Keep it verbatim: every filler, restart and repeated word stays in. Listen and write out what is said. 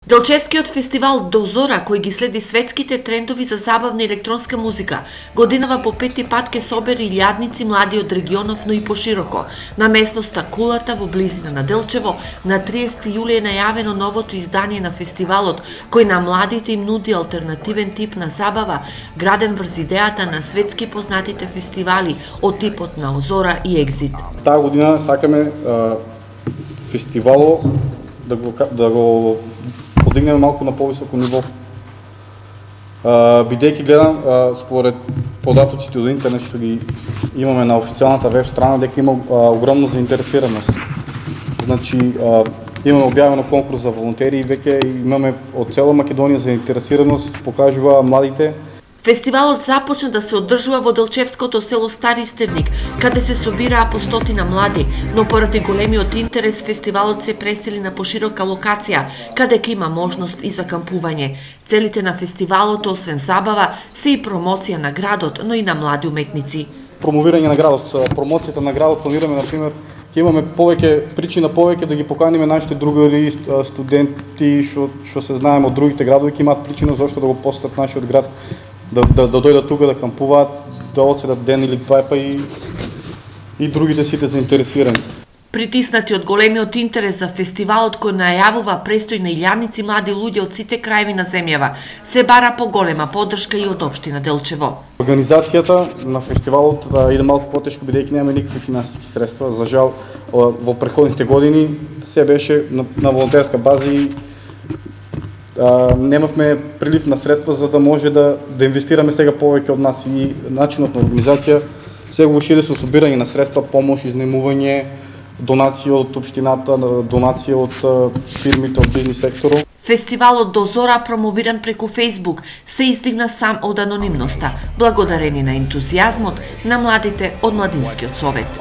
Делчевскиот фестивал Дозора, кој ги следи светските трендови за забавна електронска музика, годинава по пети пат ке собери илјадници млади од регионов, но и пошироко. На местноста Кулата во близина на Делчево, на триесети јули е најавено новото издание на фестивалот, кој на младите им нуди алтернативен тип на забава, граден врз идејата на светски познатите фестивали од типот на Озора и Екзит. Таа година сакаме а, фестивало да го да го подигнеме малку на повисоко ниво. Бидејќи гледам а, според податоците од интернет што ги имаме на официјалната веб страна, дека има а, огромна заинтересираност. Значи а, имаме објавено конкурс за волонтери и веќе имаме од цела Македонија заинтересираност, покажува младите. Фестивалот започна да се одржува во делчевското село Стари Стевник, каде се собираа по стотина млади, но поради големиот интерес фестивалот се пресели на поширока локација, каде ќе има можност и за кампување. Целите на фестивалот, освен забава, се и промоција на градот, но и на млади уметници. Промовирање на градот, промоцијата на градот планираме, например, ќе имаме повеќе причина повеќе да ги поканиме нашите другари, студенти што што се знаеме од другите градови, ќе имаат причина зашто да го посетат нашиот град. Да, да, да дојдат тука да кампуваат, да одседат ден или два, па и, и другите сите заинтересирани. Притиснати од големиот интерес за фестивалот кој најавува престој на илјадници млади луѓе од сите краеви на земјава, се бара поголема поддршка и од општина Делчево. Организацијата на фестивалот да иде малку потешко, бидејќи немаме никакви финансиски средства. За жал, во претходните години се беше на, на волонтерска база и Uh, немавме прилив на средства за да може да, да инвестираме сега повеќе од нас и начинот на организација сега го шири со собирање на средства, помош, изнаемување, донации од општината, донации од uh, фирмите од бизнис секторот. Фестивалот Дозора, промовиран преку Фејсбук, се издигна сам од анонимноста, благодарени на ентузијазмот на младите од Младинскиот совет.